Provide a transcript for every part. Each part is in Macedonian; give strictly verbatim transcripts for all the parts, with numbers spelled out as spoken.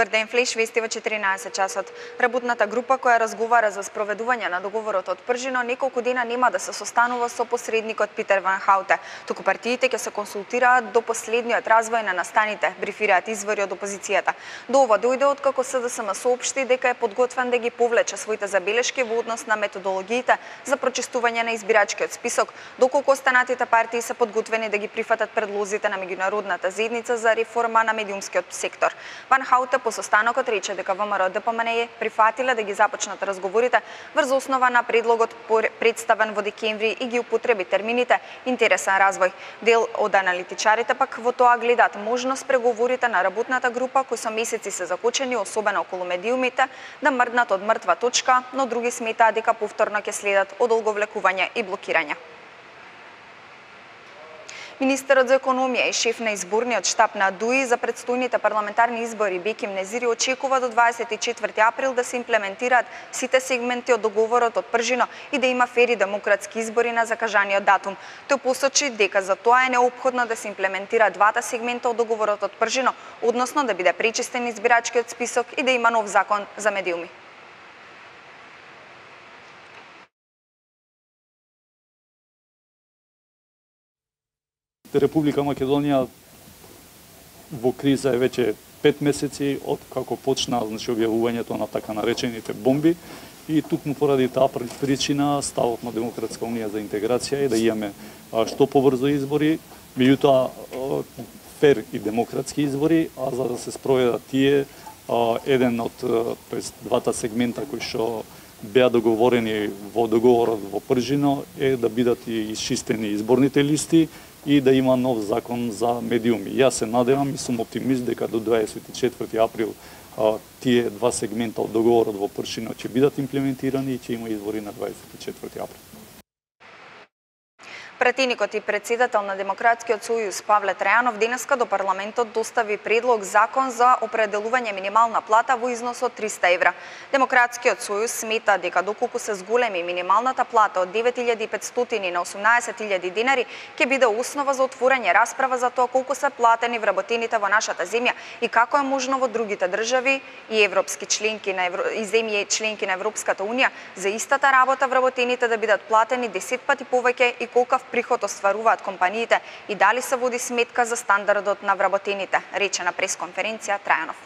Добар ден, Флеш вести во четиринаесет часот. Работната група која разговара за спроведување на договорот од Пржино неколку дена нема да се состанува со посредникот Питер Ван Хауте. Туку партиите ќе се консултираат до последниот развој на настаните, брифираат извори од опозицијата. До ова дојде откако СДСМ соопшти дека е подготвен да ги повлече своите забелешки во однос на методологиите за прочистување на избирачкиот список, доколку останатите партии се подготвени да ги прифатат предлозите на меѓународната заедница за реформа на медиумскиот сектор. Ван Хауте по состанокот рече дека ВМРО Д П М Н Е прифатиле да ги започнат разговорите врз основа на предлогот представен во декември и ги употреби термините интересен развој. Дел од аналитичарите пак во тоа гледаат можност преговорите на работната група кои со месеци се закочени, особено околу медиумите, да мрднат од мртва точка, но други сметаат дека повторно ќе следат одолговлекување и блокирање. Министерот за економија и шеф на изборниот штаб на ДУИ за предстојните парламентарни избори Беким Незири очекува до дваесет и четврти април да се имплементираат сите сегменти од договорот од Пржино и да има фер и демократски избори на закажаниот датум. Тој посочи дека за тоа е неопходно да се имплементира двата сегмента од договорот од Пржино, односно да биде пречистен избирачкиот список и да има нов закон за медиуми. Република Македонија во криза е веќе пет месеци од како почна значи објавувањето на така наречените бомби и тукму поради таа причина ставот на Демократска унија за интеграција е да имаме што побрзо избори, меѓутоа фер и демократски избори, а за да се спроведат тие еден од тоест двата сегмента кои што беа договорени во договорот во Пржино е да бидат и исчистени изборните листи и да има нов закон за медиуми. Јас се надевам и сум оптимист дека до дваесет и четврти април а, тие два сегмента од договорот во Пршино ќе бидат имплементирани и ќе има избори на дваесет и четврти април. Пратеникот и председател на Демократскиот сојуз Павле Трајанов денеска до парламентот достави предлог закон за определување минимална плата во износ од триста евра. Демократскиот сојуз смета дека доколку се зголеми минималната плата од девет илјади и петстотини на осумнаесет илјади денари, ќе биде основа за отворање расправа за тоа колку се платени вработените во нашата земја и како е можно во другите држави и европски членки на Евро... и земји членки на Европската унија за истата работа вработените да бидат платени десет пати повеќе и колку приход остваруваат компаниите и дали се води сметка за стандардот на вработените, рече на пресконференција Трајанов.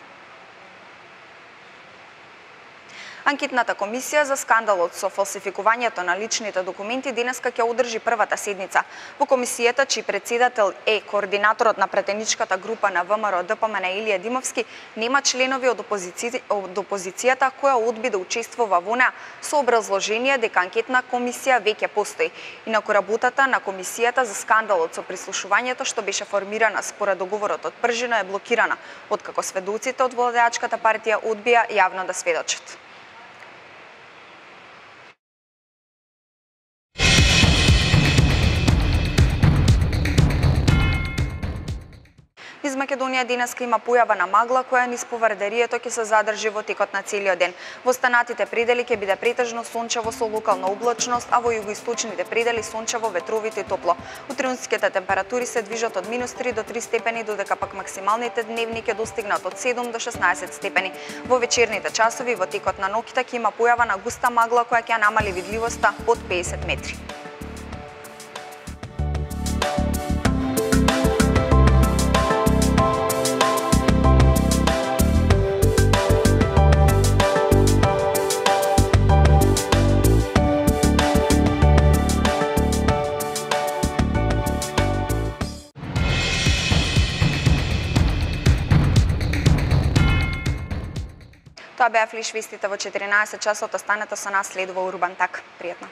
Анкетната комисија за скандалот со фалсификувањето на личните документи денеска ќе одржи првата седница. Во комисијата, чиј председател е координаторот на претеничката група на ВМРО Д П М Н Е Илија Димовски, нема членови од, опозици... од опозицијата која одби да учествува во неа со образложение дека анкетна комисија веќе постои. Инаку работата на комисијата за скандалот со прислушувањето што беше формирана според договорот од Пржино е блокирана, откако сведоците од владеачката партија одбија јавно да сведочат. Низ Македонија денеска има појава на магла која низ повардарието ќе се задржи во текот на целиот ден. Во останатите предели ќе биде претежно сончево со локална облачност, а во југоисточните предели сончево, ветровито и топло. Утрешните температури се движат од минус три до три степени, додека пак максималните дневни ќе достигнат од седум до шеснаесет степени. Во вечерните часови во текот на ноќта ќе има појава на густа магла која ќе намали видливоста под педесет метри. Тоа беа флиш вестите во четиринаесет часот, останете со нас, следува Урбан Так. Пријатно.